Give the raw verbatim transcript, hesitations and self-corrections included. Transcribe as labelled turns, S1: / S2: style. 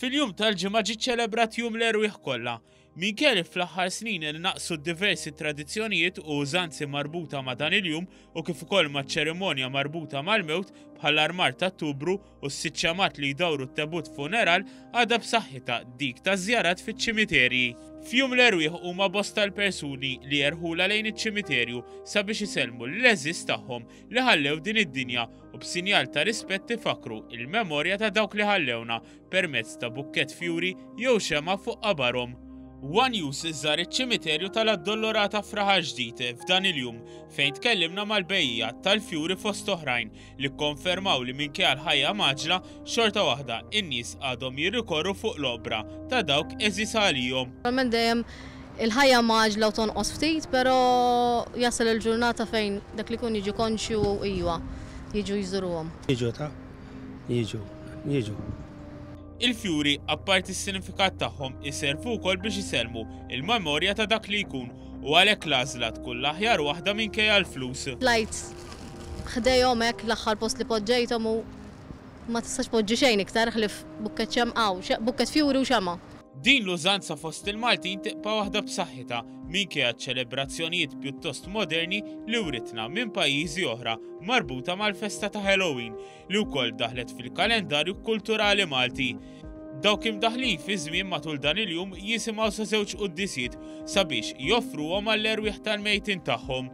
S1: Fil-jum tal-Ġimgħa ġie ċelebrat Jum l-Erwieħ Kollha. Minkejja li fl-aħħar snin naqsu diversi tradizzjonijiet u użanzi marbuta ma' dan il-jum u kif ukoll ma' ċerimonja marbuta mal-mewt bħall-armar tat-tubru u s-sitt xemgħat li jdawru t-tebut funeral, għadha b'saħħitha dik ta' żjarat fiċ-ċimiterji. F'Jum l-Erwieħ huma bosta l-persuni li jerħula lejn iċ-ċimiterju sabiex isellmu l-għeżież tagħhom li ħallew din id-dinja u b'sinjal ta' rispett ifakru il-memorja ta' dawk li ħallewna permezz ta' bukkett fjuri jew xema fuq qabarhom. One News żar iċ-ċimiterju tal-Addolorata f'Raħal Ġdid f'dan il-jum, fejn tkellimna mal-bejjiegħa tal-fjuri fost oħrajn li konfermaw li minkejja l-ħajja mgħaġġla, xorta waħda in-nies għadhom jirrikorru fuq l-oqbra ta' dawk għeżież għalihom.
S2: Normalment dejjem il-ħajja mgħaġġla u tonqos ftit, però jasal il-ġurnata fejn dak li kun jiġi konxju iwa, jiġu jżuruhom.
S3: Jiġu ta' jiġu, jiġu.
S1: Il-fjuri, apparti s-sinifikat tagħhom, iservu wkoll biex isellmu il-memorja ta' dak li jkun u għalhekk l-għażla tkun l-aħjar waħda minkejja l-flus.
S2: Tlajt ħdejhom hekk l-aħħar post li poġġejthom u ma tistax poġġi xejn iktar ħlief bukkett xemgħa, bukkett fjuri u xemgħa.
S1: Din l-użanza fost il-Maltin tibqa' waħda b'saħħitha minkejja ċelebrazzjonijiet pjuttost moderni li writna minn pajjiżi oħra marbuta mal-festa ta' Halloween li wkoll daħlet fil-kalendarju kulturali Malti. Dawk imdaħlin fi żmien matul dan il-jum jisimgħu sa żewġ quddisiet sabiex joffruhom għall-erwieħ tal-mejtin tagħhom.